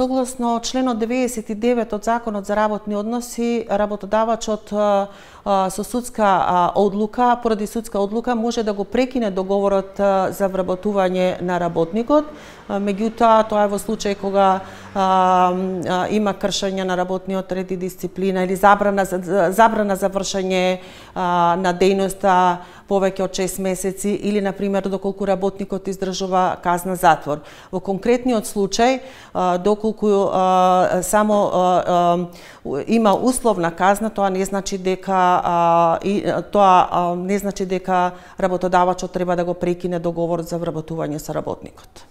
Согласно членот 99 од Законот за работни односи, работодавачот со судска одлука, поради судска одлука, може да го прекине договорот за вработување на работникот. Меѓутоа, тоа е во случај кога има кршење на работниот ред и дисциплина или забрана за вршење на дејноста повеќе од 6 месеци или, например, доколку работникот издржува казна затвор. Во конкретниот случај, доколку само има условна казна, тоа не значи дека работодавачот треба да го прекине договорот за вработување со работникот.